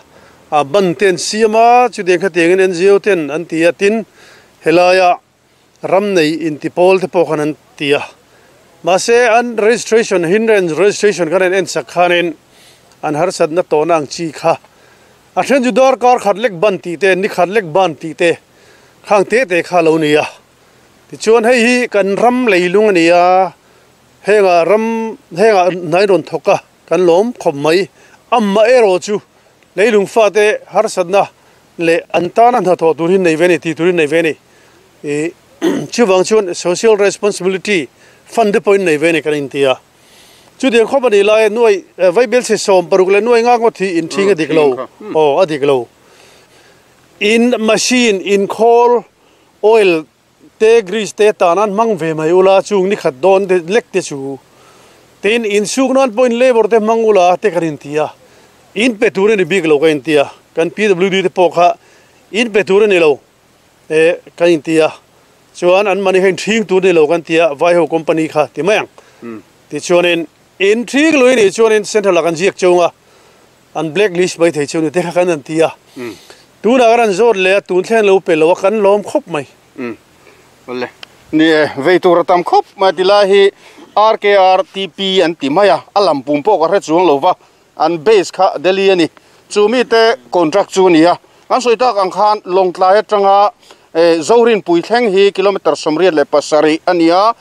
S2: a ban ten siama chu deng kha tiangin N G O ten an ti a tin helaia ram nei inti pawl te pawh khan an ti a mahse an registration hindrance registration khan an en sak khanin an harsat na tawh na ang chi kha a then chu dar kar khat lek ban tih te ni khat lek ban tih te khang te te kha lo ni a tichuan hei hi kan ram leilung ani a henga ram henga hnai rawn thawk a kan lawm khawp mai amma erawh chu leilung fa te harsat na le an tana hna thawh tur hi nei ve ni tih turin nei ve ni e chuwang chuan social responsibility fund te pawhin nei ve ni kan inti a chu tiang khawp ani lai nuai vaibel che sawm paruk le nuai nga ngawt hi in thing a dik lo aw a dik lo in machine in khawl oil te grease te tanan mang ve mai ula chung ni khat dawn te lek te chu tin in suk nan point labor te mang ula te kan inti a in pe tur ni bik lo ka inti a kan P W D te pawh kha in pe tur ni lo e kan inti a chuan an mani hein thing tur ni lo kan tia vai ho company kha ti mai ang ti chuanin in thing lui ni chuanin central kan ziak chunga an blacklist mai thei chu ni te kha kan an tia tuna kan zawt le tun thlen lo pe lo kan lawm khawp mai
S1: le ni vei tur tam khawp mai ti lai hi R K R T P an ti mai a a lam pum pawh ka hre chuang lo va an base kha Delhi ani chu mi te contract chu ni a an sawi tak ang khan Lawngtlai atanga Zorin pui thleng hi kilometer sawmriat leh pasarih ania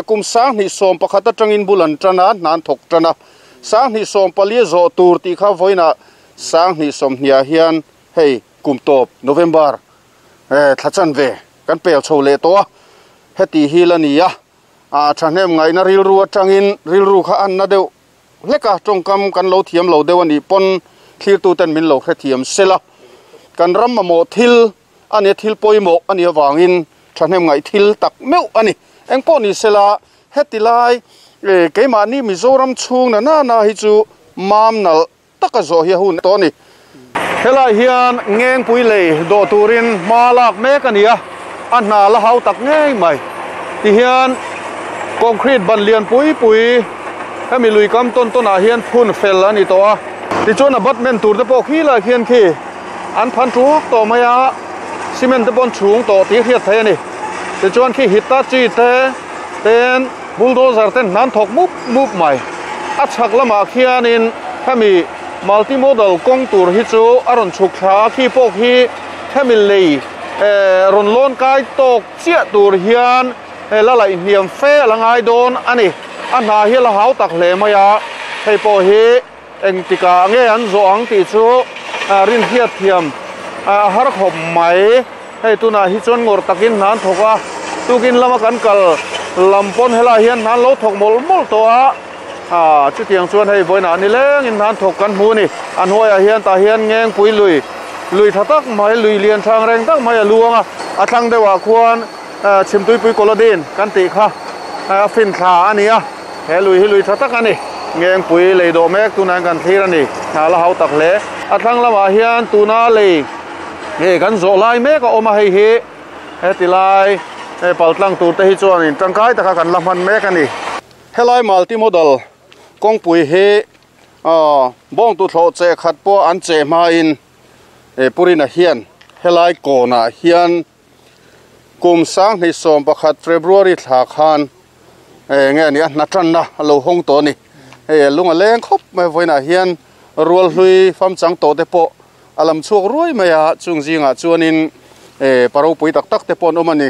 S1: kum sang hnih sawm pakhat atangin bul an tana hnan thawk tana sang hnih sawm pali zawh tur tih kha vawiinah sang hnih sawm hniah hian hei kum tawp November thla chan ve kan pel chho leh tawh a heti hi la ni a A thahnem ngai na ril ru atangin ril ru kha an na deuh hleka tawngkam kan lo thiam lo deuh ani pawn thlir tu ten min lo hre thiam sela kan ram mamawh thil ani thil pawimawh ani awangin thahnem ngai thil tak meuh ani engpawh ni sela heti lai e keimahni Mizoram chhung na na na hi chu mam nal taka zawh hi a hun tawh ani helai hian ngengpui lei dawh turin hma lak mek ani a a hna la hau tak ngei mai ti hian concrete ban lian pui pui hemi lui kam tawn tawn ah hian phun fel ani tawh a tichuan abutment tur te pawh khi lai khian khi an phan tuk tawh mai a cement te pawn chhung tawh tih hriat thei ani tichuan khi Hitachi te ten bulldozer ten hnan thawk mup mup mai a chhak lamah khianin hemi multimodal kawng tur hi chu a rawn chhuk thla a khi pawh khi hemi lei rawn lawn kai tawk chiah tur hian la laih hniam fe a la ngai dawn ani a hna hi a la hau tak hle mai a hei pawh hi engtikah nge an zawh ang tih chu rin hriat thiam a har khawp mai hei tunah hi chuan ngawr takin hna an thawk a tukin lama kan kal lam pawn helai hian hna an lo thawk mawlh mawlh tawh a a chutiang chuan hei vawiinah ni lengin hna an thawk kan hmu ani a hnuaiah hian tah hian ngengpui lui lui tha tak mai lui lian thang reng tak mai a luang a a thlang deuhah khuan chhimtuipui kawladin kan tih kha a fin thla ani a he lui hi lui tha tak ani ngengpui lei dawh mek tunah kan thlir ani hna la hau tak hle a thlang lamah hian tuna lei nge kan zawh lai mek a awm a hei hi heti lai paltlang tur te hi chuanin tangkai taka kan la hman mek ani helai multimodal kawngpui hi bawng tu thlawh che khat pawh an che hmain purina hian helai kawnah hian kum sang hnih sawm pakhat February thla khan nge ani a hna tanna a lo hawng tawh ani hei lung a leng khawp mai vawiinah hian rual hlui fam chang tawh te pawh a lam chhuak ruai mai a chung zingah chuanin paropui tak tak te pawh an awm ani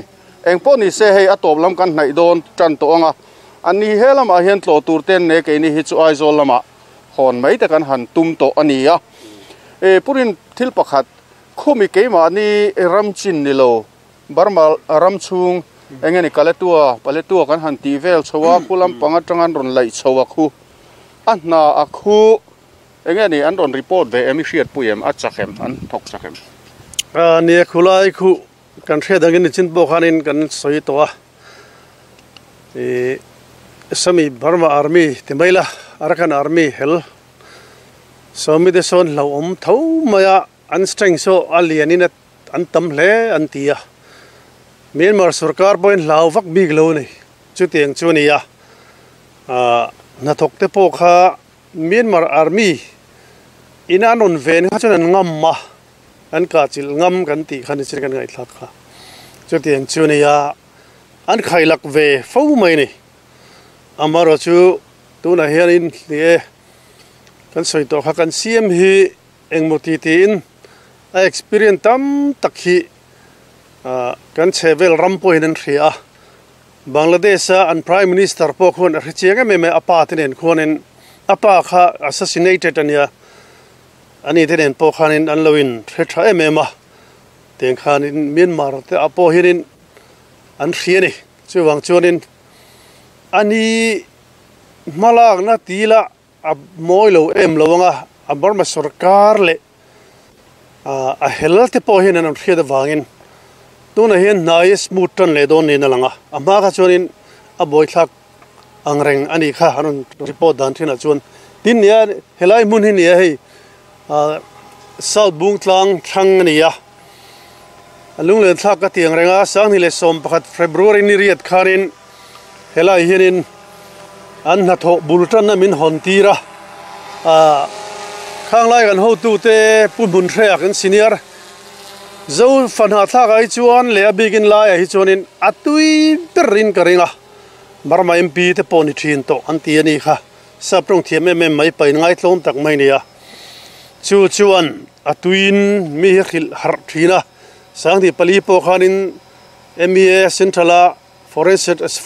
S1: engpawh ni se hei a tawp lam kan hnaih dawn tan tawh anga ani he lamah hian tlawh tur ten ne keini hi chu Aizawl lamah hawn mai te kan han tum tawh ani a e purin thil pakhat khumi keimahni ram chin ni lo Burma ram chhung engeni kaletua paletua kan han ti vel chhowa khulam panga tangan rawn laih chhowa khu a hna a khu engeni an rawn report ve emi hriat pui em a chakem an thawk chakem
S2: a ni khulai khu kan hriat angin chin pawh khanin kan sawi tawh a e sami Burma army ti mai la Arakan army hel sawmi te sawn hlo awm tho mai a an strength saw a lianin an tam hle an ti a Myanmar sarkar pawhin hlau vak bik lo ni chutiang chu ani a hnathawk te pawh kha Myanmar army in an rawn ven kha chuan an ngam a an kahchilh ngam kan tih kha ni chin kan ngaihthlak kha chutiang chu ani a an khailak ve fo mai ni amaro chu tunah hianin ni e kan sawi tawh kha kan siam hi engmaw ti tiin a experience tam tak hi kan chhevel ram pawhin an hria a Bangladesh a an prime minister pawh khuan a hre chiang em em a pa te nen khuanin a pa kha assassinated ania ani te nen pawh khanin an lo in hre tha em em a tiang khanin Myanmar te a pawh hianin an hria ani chuwang chuanin ani hmalak na tila a mawi lo em lo anga a Burma sarkar le a hel te pawh hian an hriat awangin tuna hian hnai smooth tan le dawn niin a lang a a hma kha chuanin a bawithlak angreng ani kha an rawn report dan thinah chuan tin nia helai hmun hi nia hei South Bungtlang thlang ani a a lunglen thlak ka ti angreng a sanghnih leh sawm pakhat February ni riat khanin helai hianin an hnathawh bul tanna min hawn tir a khanglai kan hotu te pu hmun hreah kan senior zo fanha thlak ah hi chuan leh a bikin laiah hi chuanin a tui berin ka ring a Burma M P te pawh ni thin tawh an ti ani kha sap tawng thiam em em mai pain ngai tlawm tak mai nia chu chuan a tuin mi hi hrilh harh thin a sanghnih pali pawh khanin M E A central a foreign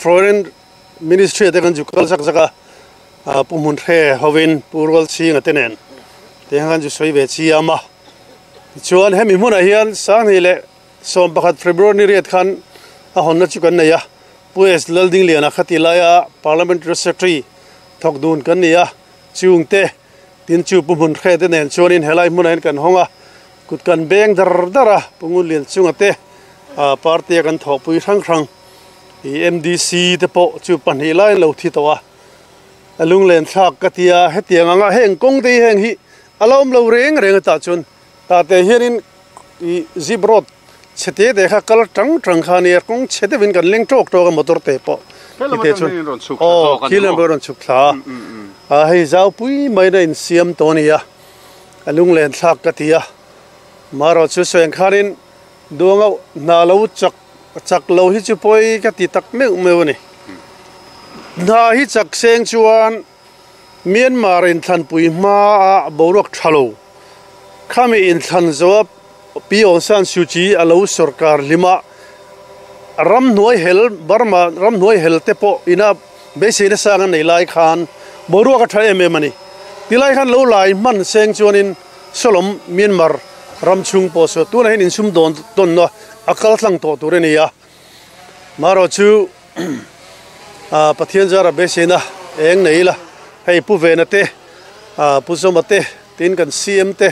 S2: foreign ministry te kan zu kal zak zak a pu hmun hre hovin pu rual chhinga te nen te khan zu sawi ve chiam a chuan hemi hmunah hian sanghnih leh sawm pakhat February ni riat khan a hawnna chu kan nei a Pu S Lalding Liana khatilaya parliamentary secretary thok dun kan nia chung te tin chu pu mun khe te nen chuanin helai hmun kan honga kut kan beng dar dara pungun lian chunga te a party kan thopui rang rang i M D C te po chu pahnih lai lo thi towa alung len thak katia hetiang anga heng kong te heng hi alom lo reng reng ta chun ta te hianin i zip road chete de kha kal tang tang kha ni kong chete win kan leng tok tok motor te po te chun o khilam ron chuk thla a hei zau pui mai na in siam to nia alung len thak katia maro chu soeng khanin duanga na lo chak chak lo hi chu poi ka ti tak meu meu ni na hi chak seng chuan Myanmar in than pui ma a boruak thalo khami in than zo pi on san suchi alo sarkar lima ram nuai hel Burma ram nuai hel te po ina be se na sang nei lai khan boruak a tha em em ani tilai khan lo lai man seng chuanin solom Myanmar ram chung po so tu na hin in sum don ton no akal tlang to tur ani ya maro chu a Pathian zara be se na eng nei la hei pu ve na te a pu zoma te tin kan C M te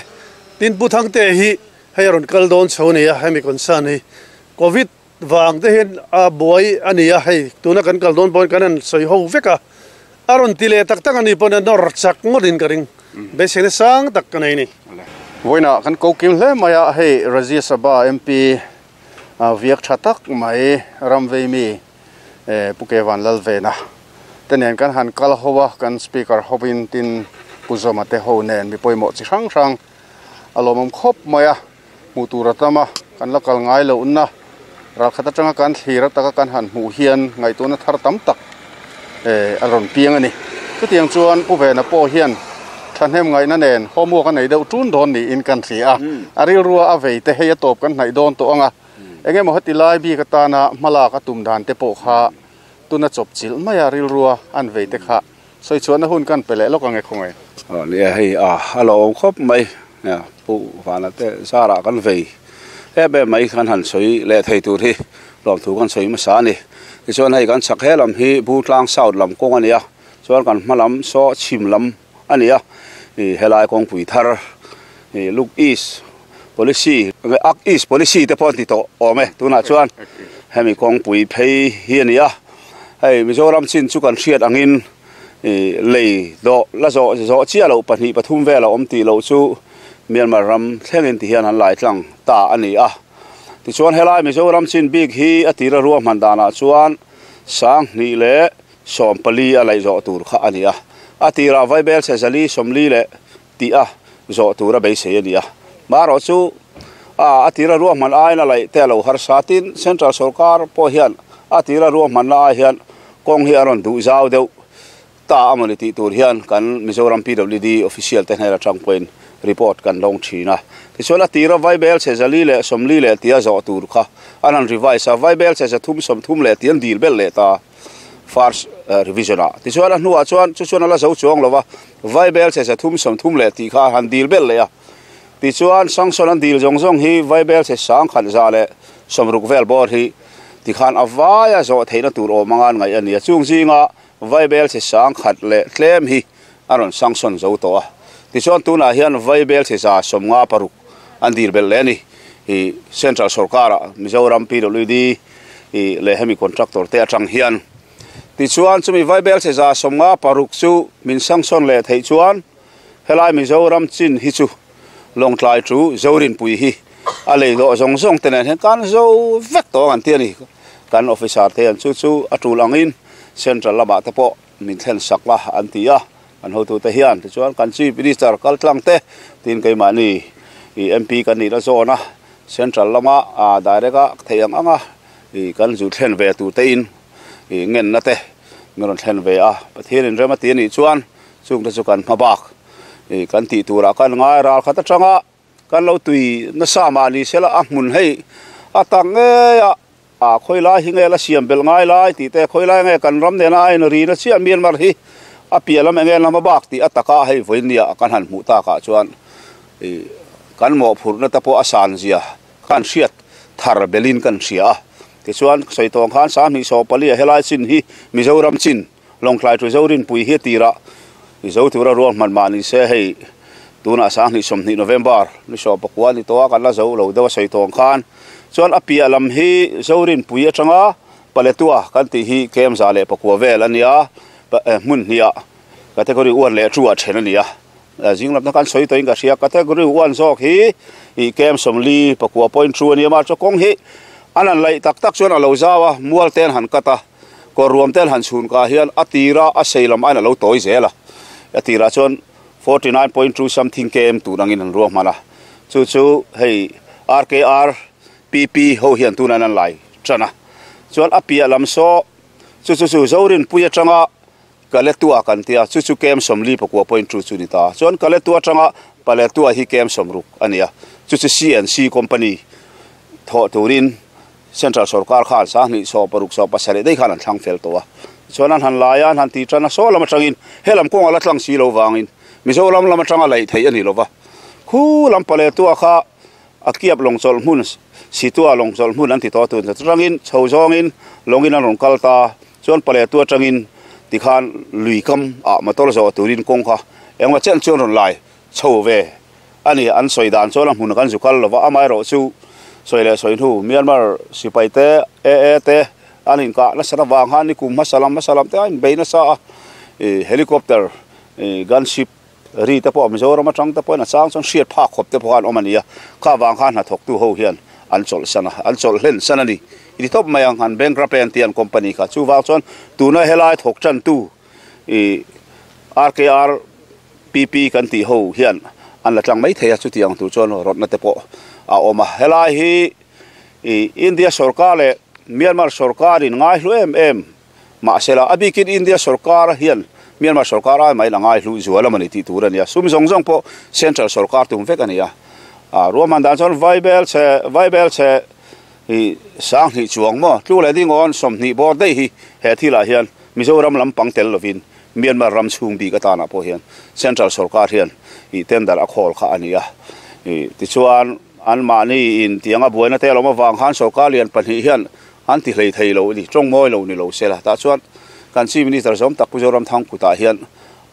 S2: tin pu thang te hi hei ron kal don chho ni a hemi kon san hi COVID wang te hin a boi ani a hei tuna kan kal don bon kan an soi ho veka aron tile tak tak ani pon nor chak ngodin karing be se sang tak kanai ni.
S1: Voina kan ko kim hle maya hei Rajya Sabha M P a viak thatak mai ramvei mi puke van lal ve na tenen kan han kal howa kan speaker hobin tin puzoma te ho nen mi poimo chi hrang hrang alomom khop maya mutura tama kan lakal ngai lo unna ral khata tanga kan thlira taka kan han hmu hian ngai tuna thar tam tak e aron piang ani chutiang chuan pu ve na po hian thanem ngai na nen homework nei deuh tun don ni in kan thri a aril rua a vei te hei a top kan hnai don to anga enge mo hati lai bi ka ta na mala ka tum dan te po kha tuna chop chil maya ril rua an vei te kha soi chuan na hun kan pele lok ange khongai.
S3: A ni hei a alo khop mai ya pu wana te zara kan vei e be mai khan han soi le thei tur hi lom thu kan soi ma sa ni ti chuan hei kan chak he lam hi bu tlang south lam kong ania chuan kan hmalam so chim lam ania i helai kong pui thar i Look East Policy, Act East Policy te pon ti to ome tuna chuan hemi kong pui phei hi ania hei Mizoram chin chu kan hriat angin i lei do la zo zo chia lo pahnih pathum vela om ti lo chu Myanmar ram thlengin ti hian an lai tlang ta ani a ti chuan helai Mizoram chin bik hi atira ruwa mandana chuan sang ni le som pali a lai zo tur kha ani a atira vaibel se zali somli le ti a zo tura be se ani a maro chu a atira ruwa man ai na lai te lo har satin central sarkar po hian atira ruwa man la hian kong hi aron du zau deuh ta amani ti tur hian kan Mizoram P W D official te hnela tang point report kan long thina ti chuan atira vaibel che zali le somli le tia zo tur kha anan revise a vaibel che thum som thum le tian dil bel le ta first revision a ti chuan a hnuah chuan chu chuan ala zo chuang lova vaibel che thum som thum le ti kha han dil bel le a ti chuan sanction an dil zong zong hi vaibel che sang khan za le somruk vel bor hi ti khan awaya zo theina tur o mangan ngai ani a chung zinga vaibel che sang khat le tlem hi aron sanction zo to a ti chuan tuna hian vaibel che za somnga paruk an dil bel le ni i central sarkara Mizoram P W D i le hemi contractor te atang hian ti chuan chumi vaibel che za somnga paruk chu min sanction le thei chuan helai Mizoram chin hi chu Lawngtlai chu Zorin pui hi a lei do zong zong te nen kan zo vek to an ti ani kan officer te an chu chu atul angin central lama te po min thlen sakla an ti a an hotu te hian ti chuan kan chief minister kal tlang te tin keimah ni i M P kan ni la zona central lama a direct a theiang anga i kan zu thlen ve tu te in i ngen na te miron thlen ve a Pathian in rema ti ni chuan chung te chu kan hmabak i kan ti tura kan ngai ral khat atanga kan lo tui na sa ma ni sela a hmun hei a tang nge a a khoi lai hi nge la siam bel ngai lai ti te khoi lai nge kan ram ne na ai ri na chia Myanmar hi a pialam enge lama bak ti ataka hei voinia kan han mu ta ka chuan i kan mo phur na ta po asan zia kan hriat thar belin kan hria Ti chuan soi tawng khan sang hnih sawm pali a helai chin hi Mizoram chin Lawngtlai to Zorinpui hi tira zo tura ruang man ma ni se hei tuna sang hnih sawmhnih November ni sawm pakua ni to a kan la zo lo deuh a soi tawng khan chuan a piah lam hi Zorinpui atanga Paletua kan ti hi kem za leh pakua vel ania hmun hnia category one leh two a then ania jing lam na kan soi toin ka hria category one zawk hi i kem sawmli pakua point two ania ma chu kawng hi anan lai tak tak chuan a lo zawa mual ten han kata ko ruam ten han chhun ka hian a tira a seilam aina lo toi zela a tira chuan forty-nine point two something km turangin an ruang mana chu chu hei R K R P P ho hian tunan an lai chana chuan a piah lam saw chu chu chu Zorinpui atanga Kaletua kan tia chu chu kem sawmli pakua point two chu ni ta chuan Kaletua atanga Paletua hi kem sawmruk ania chu chu C N C company tho turin Central Sarkar khan sang hnih sawm paruk sawm pasarih dei khan an thlang fel tawh a chuan an han lai a an han ti tan a saw lam atangin helam kawnga la tlang si lo wangin Mizoram lam atanga laih theih ani lova khu lam Paletua kha a kiap lawngchawlh hmun situa lawngchawlh hmun an ti tawh tun atangin chho zawngin lawngin an rawn kal ta chuan Paletua atangin tikhan luikam a motor zawh turin kawng kha engmaw chen chuan rawn lai chho ve ani an sawi dan chuan a hmun kan zu kal lova amaherawh chu soi le soi nu Myanmar sipai te e e te anin ka na sara wang han ni kum masalam masalam te an beina sa e helicopter e gunship ri te pawh Mizoram atang te pawh na chang chuan hriat phak khawp te pawh an awm ania kha wang khan hna thawk tu ho hian an chawlh sana an chawlh hlen sana ni iti top mai ang han bankrupt an tian company kha chu wang chuan tuna helai thawk tan tu e R K R P P kan ti ho hian an la tlang mai thei a chu tiang tu chuan rot na te pawh a awm a helai hi India sarkar leh Myanmar sarkar in ngai hlu em em mahsela a bikin India sarkar hian Myanmar sarkar ai mai la ngai hlu zual amani ti tur ania sum zawng zawng pawh central sarkar tum vek ania a ruahman dan chuan vaibel che vaibel che i sang hnih chuang maw tlu leh dingawn sawmhnih bawr daih hi he thilah hian Mizoram lampang tel lovin Myanmar ram chhung bik atana pawh hian central sarkar hian i tender a khawl kha ania i tichuan an mahni in tianga buaina te lawm awang khan sarkar lian pahnih hian an ti hlei thei lo ni tawng mawi lo ni lo sela tah chuan kan chief minister zawm tak Mizoram thang kutah hian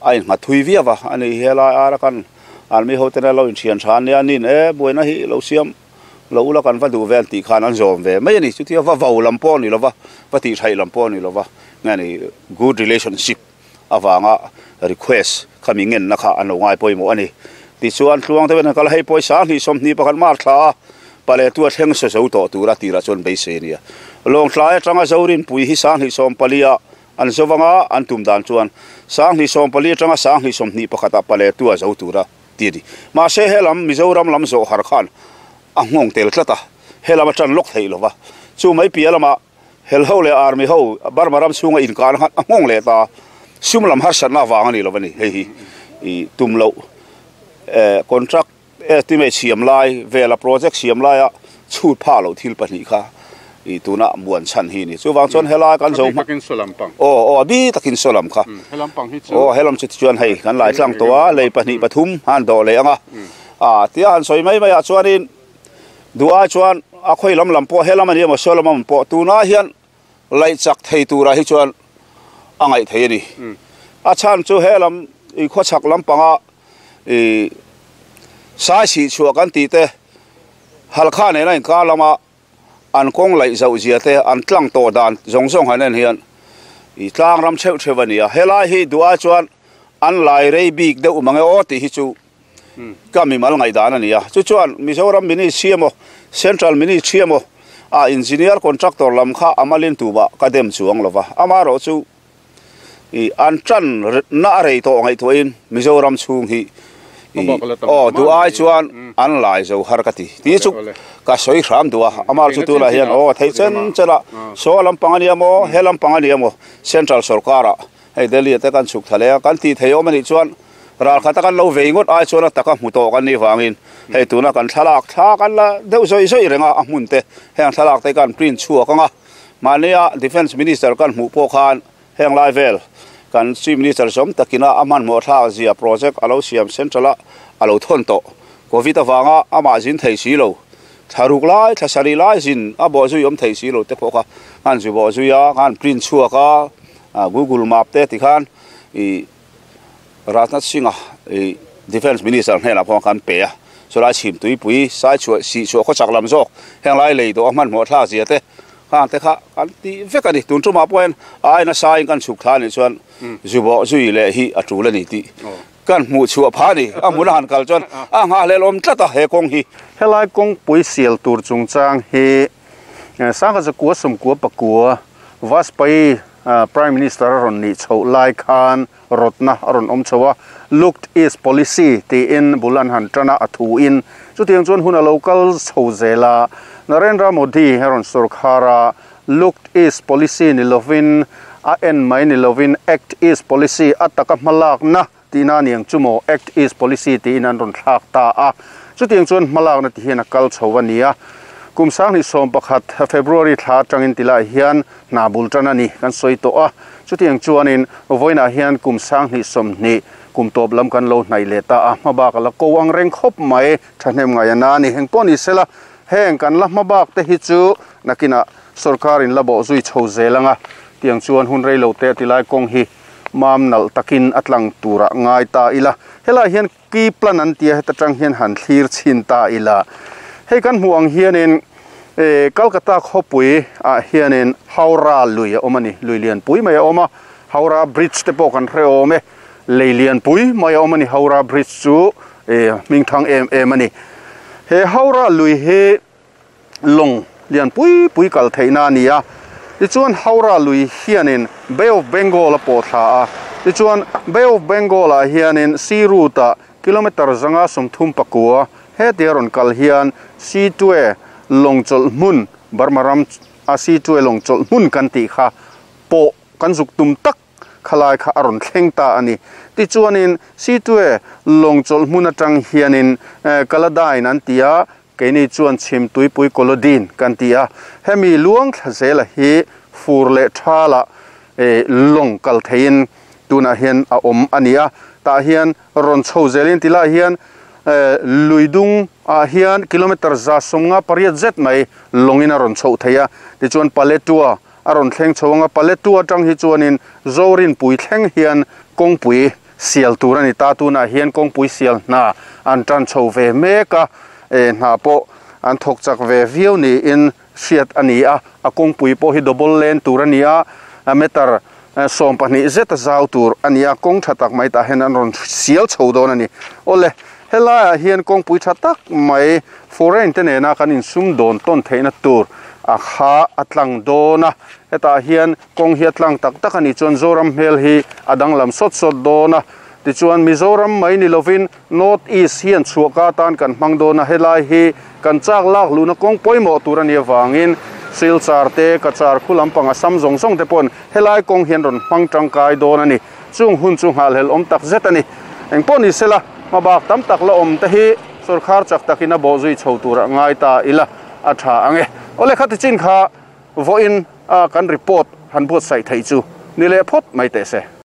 S3: a in nghat thui viau a ani helai ara kan army ho ten lo in thian than nia nin e buaina hi lo siam lo ula kan va duh vel tih khan an zawm ve mai ani chutia va vo lam pawh ni lova va tih thaih lam pawh ni lova nge ni good relationship awanga request khami ngen na kha an lo ngai pawimawh ani ti chuan tluang te ven kal hei pawisa hnih sawmhnih pakhat mar thla a Paletua thleng se zo tawh tura tira chuan beisei ania Lawngtlai atanga Zorinpui hi sang hnih sawm palia an zawanga an tum dan chuan sang hnih sawm pali atanga sang hnih sawmhnih pakhata Paletua zo tura ti ni mahse helam Mizoram lam zawh har khan a nghawng tel tlat a helam atan lawk thei lova chu mai piah lama hel ho leh army ho Burma ram chhunga inkan khan a nghawng leh ta sum lam har satna awang ani lo ani hei hi i tum lo contract estimate siam lai vela project siam lai a chhut pha lo thil pahnih kha i tuna muan chan hi ni chuwang chuan helai kan zo
S4: takin solam pang
S3: o o bi takin solam kha
S4: helam pang hi chu
S3: o helam chu chuan hei kan lai tlang to a lei pahnih pathum han do le anga a tia han soi mai mai a chuanin duai chuan a khoi lam lam pawh helam ani emaw solam am pawh tuna hian lai chak thei tura hi chuan angai thei ani a chan chu helam i khaw chak lam panga i sai si chua kan ti te halkha ne na ka lama an kong lai zau zia te an tlang to dan zong zong hanen hian i tlang ram cheu chevania helai hi duai chuan an lai rei bik deuh mange o ti hi chu ka mi mal ngai dan ania chu chuan Mizoram mini siamo central mini siamo a engineer contractor lam kha amalin tuba ka dem chuang lova amaro chu i an tran na rei to ngai thoin Mizoram chung hi o duai chuan an lai zo har ka ti ti chu ka soi hram dua amar chu tu la hian o thei chen chela so lam pangania mo helam pangania mo central sarkara hei Delhi te kan chuk thale kan ti thei om ani chuan ral khata kan lo vei ngot ai chuan taka hmu to kan ni wangin hei tuna kan thlalak thla kan la deuh zoi zoi renga a hmun te heng thlalak te kan print chuak anga mania defense minister kan hmu pawh khan heng lai vel kan chief minister som takina aman mo tha zia project alo siam central a alo thon to covid awanga ama jin thei si lo tharuk lai thasari lai zin a bo zui om thei si lo te pawh kha kan zu bo zuia kan print chhuak a Google Map te ti khan i Rajnath Singh a i Defense Minister hnenah pawh kan pe a chulai chhim tui pui sai chhuah si chhuah khaw chak lam zawk heng lai lei dawh a hmanhmawh thla zia te khan te kha kan ti vek ani tun tumah pawhin a aina saiin kan chhuk thla anih chuan zu bawh zui leh hi a tul ani tih kan hmuh chhuah pha ani a hmun a han kal chuan a nghah hlel awm tlat a he kawng hi
S1: helai kawngpui sial tur chungchang hi sangha zakua sawmkua pakua Vajpayee Prime Minister a rawn nih chhoh lai khan rawtna a rawn awm chho a looked east policy tiin bul an han tan a a thu in chutiang chuan hun a lo kal chho zel a Narendra Modi a rawn sawrkhar a looked east policy ni lovin a en mai ni lovin act east policy a taka hmalakna tihna a niang chu maw act east policy tiin an rawn thlak ta a chutiang chuan hmalakna ti hian a kal chho a ni a kum sanghnih sawm pakhat February thla atangin tilai hian hna bul tan a ni kan sawi tawh a chutiang chuanin vawiinah hian kum sanghnih sawmhnih kum tawp lam kan lo hnaih leh ta a hmabak a la ko ang reng khawp mai thahnem ngai a na a ni heng pawh ni sela heng kan la hmabak te hi chu nakinah sawrkarin la bawh zui chho zel anga tiang chuan hun rei lo te tilai kawng hi mam nalh takin a tlang turah ngai ta ila helai hian ki plan an tia heta tang hian han thlir chhin ta ila hei kan hmuh ang hianin e Kolkata khawpui ah hianin Howrah lui a awm a ni lui lianpui mai a awm a Howrah Bridge te pawh kan hre awm e lei lianpui mai a awm a ni Howrah Bridge chu e hming thang em em a ni he Howrah lui hi lawng lianpui pui kal theihna a ni a tichuan Howrah lui hianin Bay of Bengal a pawh thla a tichuan Bay of Bengal ah hianin sea route ah kilometer zanga sawmthum pakua he tia rawn kal hian Sittwe lawng chawlh hmun Burma ram a Sittwe lawng chawlh hmun kan tih kha pawh kan zuk tum tak khalai kha a rawn thleng ta a ni tichuanin Sittwe lawng chawlh hmun atang hianin Kaladain an ti a keini chuan chhim tuipui Kolodin kan ti a hemi luang thla zela hi fur leh thala e lawng kal theiin tunah hian a awm a ni a tah hian rawn chho zelin tilai hian luidung ah hian kilometer za sawmnga pariat zet mai lawngin a rawn chhoh thei a tichuan Paletua a rawn thleng chho anga Paletua atang hi chuanin Zorinpui thleng hian kawngpui sial tur a ni ta tunah hian kawngpui sial hna an tan chho ve mek a e hna pawh an thawk chak ve viau niin hriat a ni a a kawngpui pawh hi double lane tur a ni a meter sawm pahnih zet a zau tur a ni a kawng tha tak mai tah hian an rawn sial chho dawn a ni awle helaiah hian kawngpui tha tak mai foreign te nena kan insum dawn tawn theihna tur a kha a tlang dawn a hetah hian kawng hi a tlang tak tak a ni chuan Zoram hmel hi a danglam sawt sawt dawn a tichuan Mizoram mai ni lovin North East hian chhuahka tan kan hmang dawn a helai hi kan chak lak luna kawng pawimawh tur a ni avangin Silchar te Cachar khu lampang a sam zawng zawng te pawn helai kawng hian rawn hmang tangkai dawn a ni chung hun chu nghah hlel awm tak zet a ni engpawh ni sela hmabak tam tak la awm te hi sawrkhar chak takin a bawh zui chho turah ngai ta ila a tha ange awle kha tichin kha vawiin a kan report han buatsaih theih chu ni leh phawt mai teh se.